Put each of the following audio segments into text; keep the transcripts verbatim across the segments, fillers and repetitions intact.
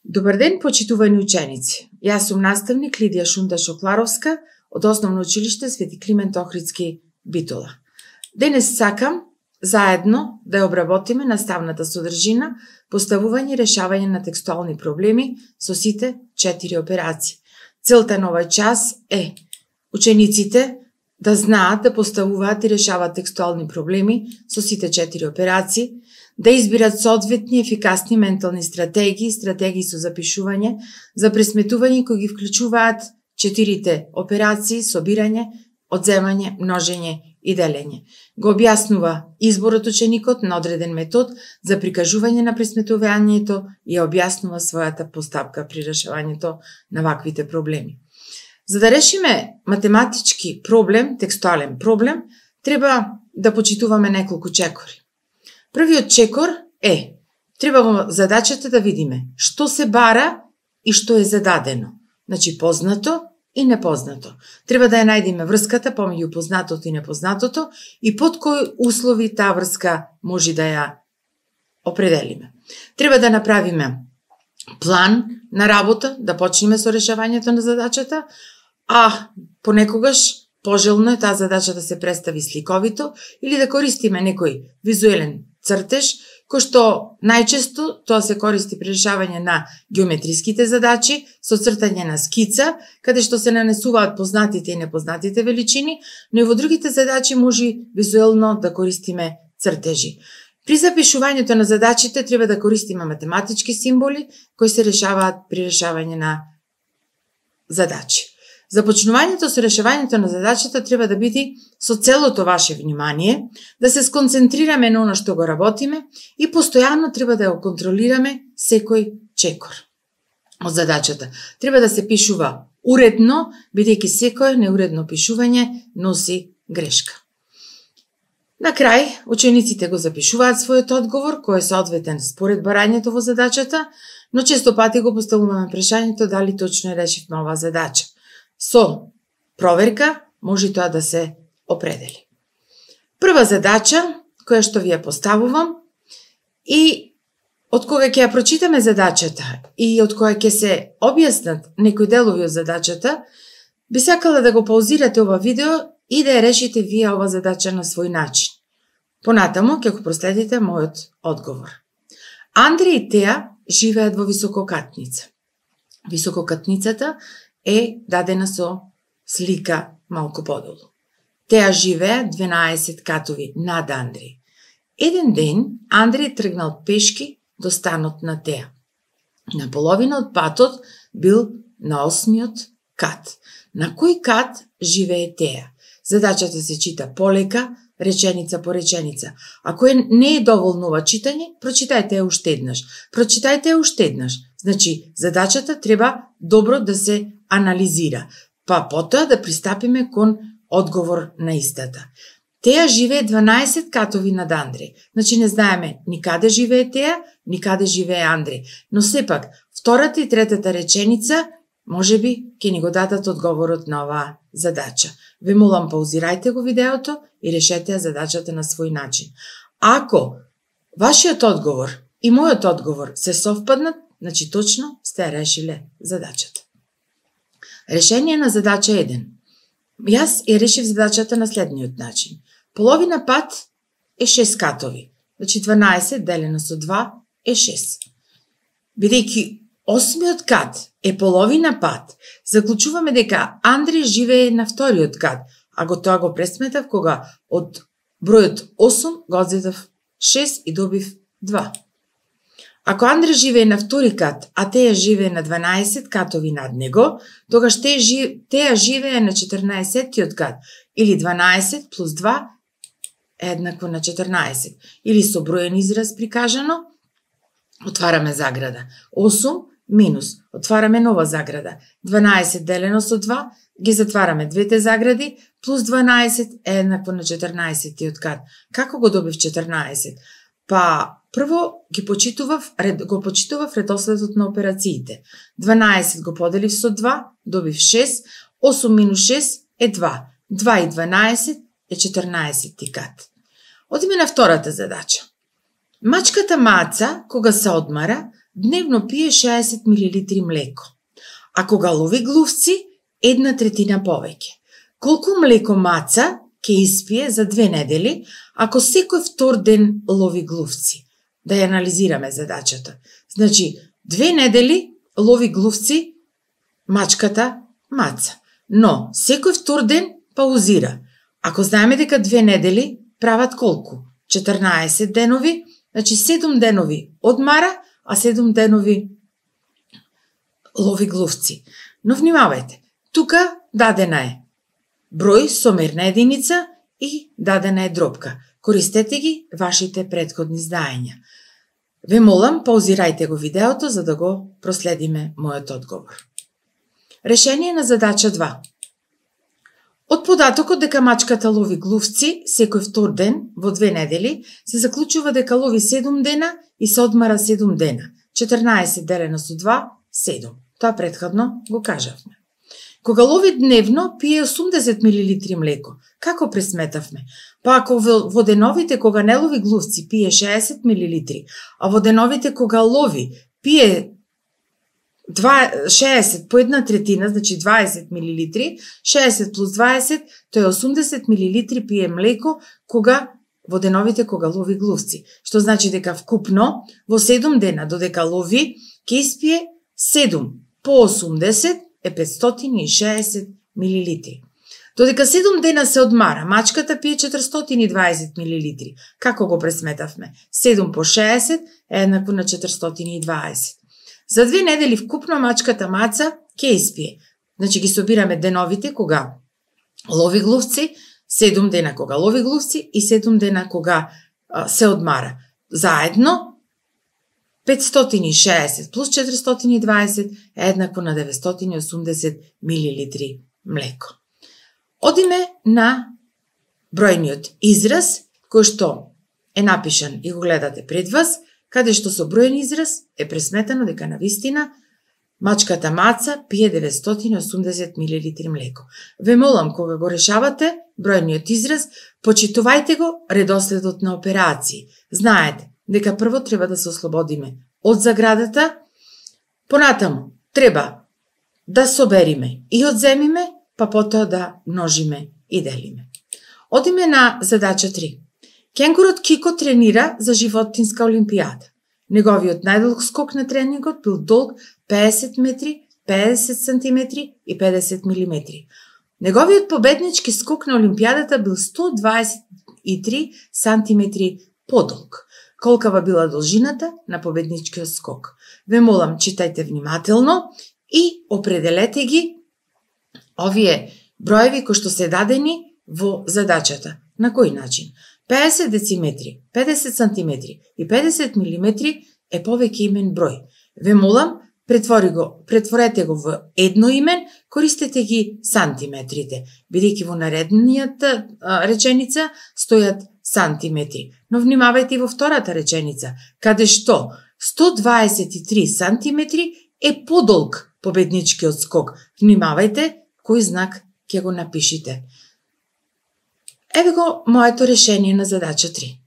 Добар ден, почитувани ученици. Јас сум наставник Лидија Шунда-Шокларовска од Основно училиште Свети Климент Охридски, Битола. Денес сакам заедно да ја обработиме наставната содржина, поставување и решавање на текстуални проблеми со сите четири операции. Целта на овој час е учениците да знаат да поставуваат и решаваат текстуални проблеми со сите четири операции, да избират соодветни ефикасни ментални стратегии, стратегии со запишување, за пресметување кои ги вклучуваат четирите операции: собирање, одземање, множење и делење. Го објаснува изборот ученикот на одреден метод за прикажување на пресметувањето и ја објаснува својата постапка при решавањето на ваквите проблеми. За да решиме математички проблем, текстуален проблем, треба да почитуваме неколку чекори. Првиот чекор е, треба во задачата да видиме што се бара и што е зададено. Значи познато и непознато. Треба да ја најдеме врската помеѓу познатото и непознатото и под кои услови таа врска може да ја определиме. Треба да направиме план на работа, да почнеме со решавањето на задачата, а понекогаш пожелно е таа задача да се представи сликовито или да користиме некој визуелен цртеж, кој што најчесто тоа се користи при решавање на геометриските задачи со цртање на скица, каде што се нанесуваат познатите и непознатите величини, но и во другите задачи може визуелно да користиме цртежи. При запишувањето на задачите треба да користиме математички символи кои се решаваат при решавање на задачи. Започнувањето со решавањето на задачата треба да биде со целото ваше внимание, да се сконцентрираме на оно што го работиме и постојано треба да ја контролираме секој чекор од задачата. Треба да се пишува уредно, бидејќи секое неуредно пишување носи грешка. На крај, учениците го запишуваат својот одговор, кој е соодветен според барањето во задачата, но често пати го поставуваме прашањето дали точно решивме оваа задача. Со проверка може тоа да се определи. Прва задача, која што ви ја поставувам, и од кога ќе ја прочитаме задачата и од кога ќе се објаснат некои делови од задачата, би сакала да го паузирате ова видео и да ја решите вие ова задача на свој начин. Понатаму ќе го проследите мојот одговор. Андре и Теа живеат во висококатница. Висококатницата е дадена со слика малку подолу. Теа живее дванаесет катови над Андреј. Еден ден Андреј тргнал пешки до станот на Теа. На половина од патот бил на осмиот кат. На кој кат живее Теа? Задачата се чита полека, реченица по реченица. Ако е не е доволно ова читање, прочитајте ја уште еднаш. Прочитајте ја уште еднаш. Значи, задачата треба добро да се анализира, па потоа да пристапиме кон одговор на истата. Теа живее дванаесет катови над Андреј. Значи не знаеме ни каде живее Теа, ни каде живее Андреј. Но сепак, втората и третата реченица можеби ќе ни го дадат одговорот на оваа задача. Ве молам, паузирајте го видеото и решете ја задачата на свој начин. Ако вашиот одговор и мојот одговор се совпаднат, значи точно сте ја решиле задачата. Решение на задача еден. Јас ја решив задачата на следниот начин. Половина пат е шест катови. Значи дванаесет делено со два е шест. Бидејќи осмиот кат е половина пат, заклучуваме дека Андреј живее на вториот кат, а го тоа го пресметав кога од бројот осум го одзедав шест и добив два. Ако Андре живее на втори кат, а Теа живее на дванаесет катови над него, тогаш Теа живее на четрнаесеттиот кат, или дванаесет плюс два е еднакво на четрнаесет. Или со броен израз прикажано, отвараме заграда. осум минус, отвараме нова заграда. дванаесет делено со два, ги затвараме двете загради, плюс дванаесет е еднакво на четрнаесеттиот кат. Како го добив четрнаесет? Па, прво ги почитував, го почитував редоследот на операциите. дванаесет го поделив со два, добив шест, осум минус шест е два. два и дванаесет е четрнаесетти кат. Одиме на втората задача. Мачката Маца, кога се одмара, дневно пие шеесет милилитри млеко, а кога лови глувци, една третина повеќе. Колку млеко маца ќе испие за две недели ако секој втор ден лови глувци? Да ја анализираме задачата. Значи, две недели лови глувци мачката маца, но секој втор ден паузира. Ако знаеме дека две недели прават колку? четрнаесет денови, значи седум денови одмара, а седум денови лови глувци. Но внимавајте, тука дадена е број со мерна единица и дадена е дробка. Користете ги вашите претходни знаења. Ве молам, паузирајте го видеото за да го проследиме мојот одговор. Решение на задача два. Од податокот дека мачката лови глувци секој втор ден во две недели, се заклучува дека лови седум дена и се одмара седум дена. четрнаесет делено со два, седум. Тоа претходно го кажавме. Кога лови дневно, пие осумдесет милилитри млеко. Како пресметавме? Па ако во деновите кога не лови глувци пие шеесет милилитри, а во деновите кога лови пие шеесет по една третина, значи дваесет милилитри, шеесет плюс дваесет, тоа е осумдесет милилитри пие млеко кога во деновите кога лови глувци. Што значи дека вкупно во седум дена додека лови ќе испие седум по осумдесет е петстотини и шеесет милилитри. Додека седум дена се одмара, мачката пие четиристотини и дваесет милилитри. Како го пресметавме? седум по шеесет е еднакво на четиристотини и дваесет. За две недели вкупно мачката маца ќе испие. Значи ги собираме деновите кога лови глувци, седум дена кога лови глувци и седум дена кога а, се одмара. Заедно петстотини и шеесет плюс четиристотини и дваесет е еднакво на деветстотини и осумдесет милилитри млеко. Одиме на бројниот израз, кој што е напишан и го гледате пред вас, каде што со бројен израз е пресметано дека навистина мачката маца пие деветстотини и осумдесет милилитри млеко. Ве молам, кога го решавате бројниот израз, почитувајте го редоследот на операции. Знаете дека прво треба да се ослободиме од заградата, понатаму треба да собериме и одземиме, па потоа да множиме и делиме. Одиме на задача три. Кенгурот Кико тренира за животинска олимпијада. Неговиот најдолг скок на тренингот бил долг педесет метри, педесет сантиметри и педесет милиметри. Неговиот победнички скок на олимпијадата бил сто дваесет и три сантиметри подолг. Колкава била должината на победничкиот скок? Ве молам, читајте внимателно и определете ги овие броеви кои што се дадени во задачата. На кој начин? педесет дециметри, педесет сантиметри и педесет милиметри е повеќе имен број. Ве молам, претвори го, претворете го во едно имен, користете ги сантиметрите, бидејќи во нареднијата реченица стојат сантиметри. Но внимавајте и во втората реченица, каде што сто дваесет и три сантиметри е подолг победничкиот скок. Внимавајте кој знак ќе го напишите. Еве го моето решение на задача три.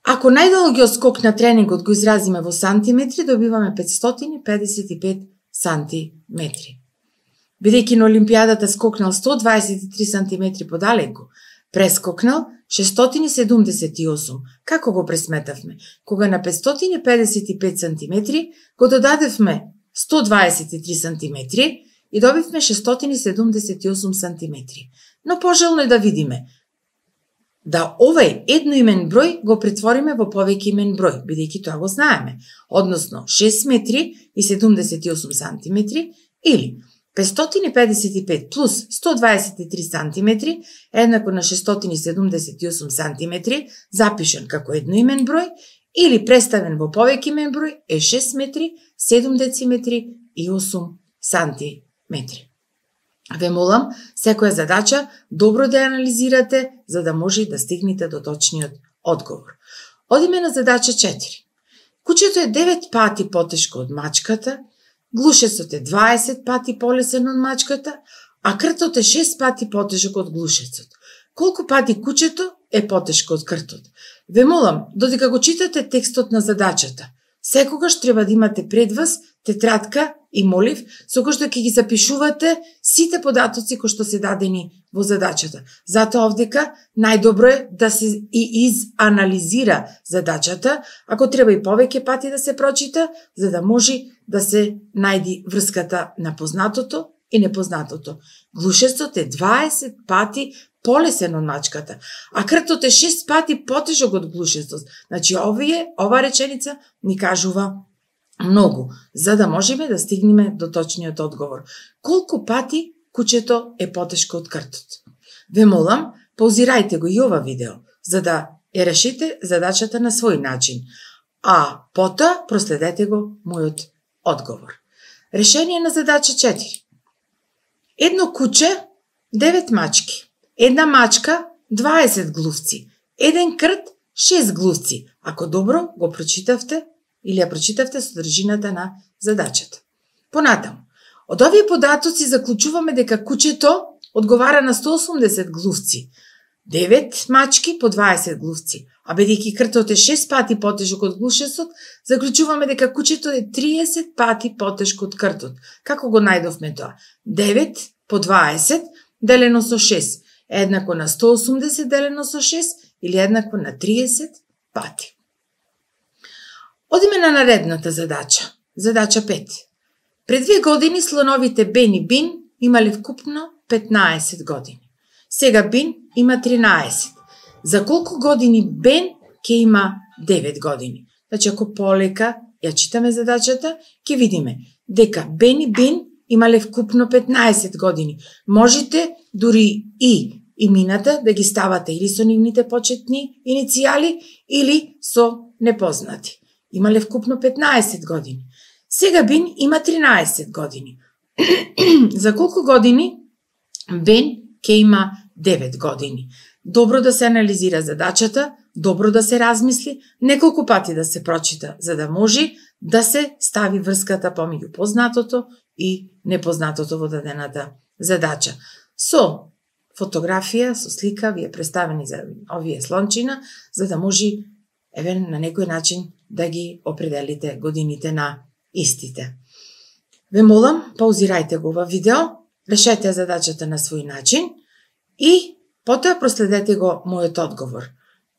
Ако најдолгиот скок на тренингот го изразиме во сантиметри, добиваме петстотини педесет и пет сантиметри. Бидејќи на олимпијадата скокнал сто дваесет и три сантиметри подалеку, прескокнал шестстотини седумдесет и осум. Како го пресметавме? Кога на петстотини педесет и пет сантиметри го додадевме сто дваесет и три сантиметри и добивме шестстотини седумдесет и осум сантиметри. Но пожелно е да видиме да овај едноимен број го претвориме во повеќе имен број, бидејќи тоа го знаеме, односно шест метри и седумдесет и осум сантиметри или петстотини педесет и пет плюс сто дваесет и три сантиметри еднакво на шестстотини седумдесет и осум сантиметри, запишан како едноимен број, или представен во повеќе имен број е шест метри, седум дециметри и осум сантиметри. Ве молам, секоја задача добро да ја анализирате, за да може да стигнете до точниот одговор. Одиме на задача четири. Кучето е девет пати потешко од мачката, глушецот е дваесет пати полесен од мачката, а кртот е шест пати потешок од глушецот. Колку пати кучето е потешко од кртот? Ве молам, додека го читате текстот на задачата, секогаш треба да имате пред вас тетрадка и молив, со кој што ќе ги запишувате сите податоци кои што се дадени во задачата. Затоа овдека најдобро е да се и изанализира задачата, ако треба и повеќе пати да се прочита, за да може да се најди врската на познатото и непознатото. Глушецот е дваесет пати полесен од мачката, а кртот е шест пати потежок од глушецот. Значи, овие, ова реченица ни кажува многу, за да можеме да стигнеме до точниот одговор. Колку пати кучето е потешко од кртот? Ве молам, паузирајте го и ова видео, за да ја решите задачата на свој начин, а потоа проследете го мојот одговор. Решение на задача четири. Едно куче, девет мачки. Една мачка, дваесет глувци. Еден крт, шест глувци. Ако добро го прочитавте или ја прочитавте содржината на задачата. Понатаму, од овие податоци заклучуваме дека кучето одговара на сто осумдесет глувци. девет мачки по дваесет глувци. А бидејќи кртот е шест пати потежок од глушецот, заклучуваме дека кучето е триесет пати потешко од кртот. Како го најдовме тоа? девет по дваесет делено со шест е еднакво на сто осумдесет делено со шест или еднакво на триесет пати. Одиме на наредната задача. Задача пет. Пред две години слоновите Бен и Бин имале вкупно петнаесет години. Сега Бин има тринаесет. За колку години Бен ќе има девет години? Значи, ако полека ја читаме задачата, ќе видиме дека Бен и Бин имале вкупно петнаесет години. Можете дури и имината да ги ставате или со нивните почетни иницијали, или со непознати. Имале вкупно петнаесет години. Сега Бин има тринаесет години. За колку години Бен ќе има девет години? Добро да се анализира задачата, добро да се размисли, неколку пати да се прочита, за да може да се стави врската помеѓу познатото и непознатото во дадената задача. Со фотографија, со слика, ви е представени за овие слончина, за да може еве на некој начин да ги определите годините на истите. Ве молам, паузирајте го ова видео, решете задачата на свој начин и потоа проследете го мојот одговор.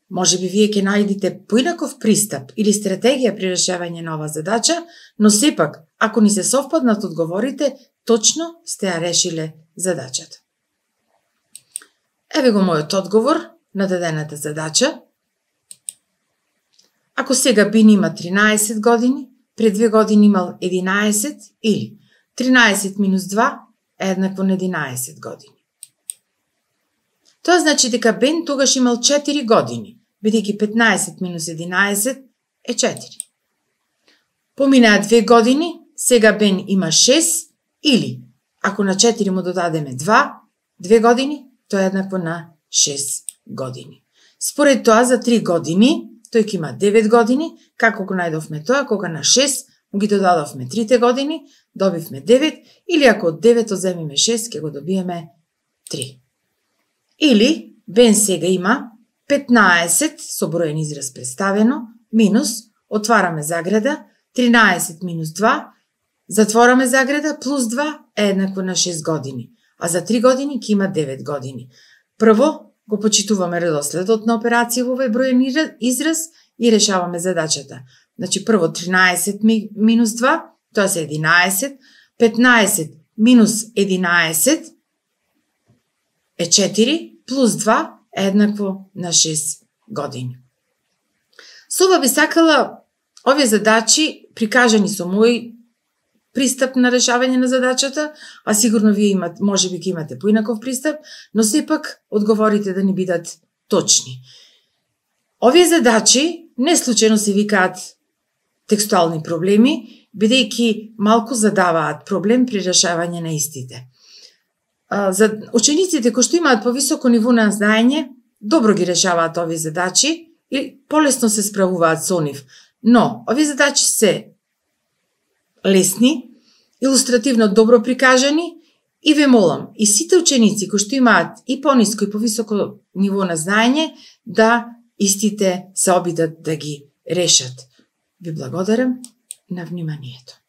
Може би вие ќе најдете поинаков пристап или стратегија при решавање на оваа задача, но сепак, ако ни се совпаднат одговорите, точно сте ја решиле задачата. Еве го мојот одговор на дадената задача. Ако сега Бин има тринаесет години, пред две години имал единаесет или тринаесет минус два е еднакво на единаесет години. Тоа значи дека Бен тогаш имал четири години, бидејќи петнаесет минус единаесет е четири. Поминаа две години, сега Бен има шест или, ако на четири му додадеме два, две години, тоа е еднакво на шест години. Според тоа за три години, тој ќе има девет години, како го најдовме тоа, кога на шест му ги додадовме трите години, добивме девет, или ако од девет одземиме шест, ќе го добиеме три. Или, Бен сега има петнаесет, со броен израз представено, минус, отвараме заграда, тринаесет минус два, затвораме заграда, плюс два е еднакво на шест години, а за три години ќе има девет години. Прво, го почитуваме редоследот на операција во овој броен израз и решаваме задачата. Значи, прво тринаесет минус два, тоа се единаесет, петнаесет минус единаесет е четири, плюс два е еднакво на шест години. Со ова би сакала овие задачи, прикажани со мој пристап на решавање на задачата, а сигурно вие имат, може би ќе имате поинаков пристап, но сепак одговорите да ни бидат точни. Овие задачи не случајно се викаат текстуални проблеми, бидејќи малку задаваат проблем при решавање на истите. За учениците кои што имаат повисоко ниво на знаење, добро ги решаваат овие задачи и полесно се справуваат со нив. Но, овие задачи се лесни, илустративно добро прикажани и ве молам, и сите ученици кои што имаат и пониско и повисоко ниво на знаење, да истите се обидат да ги решат. Ви благодарам на вниманието.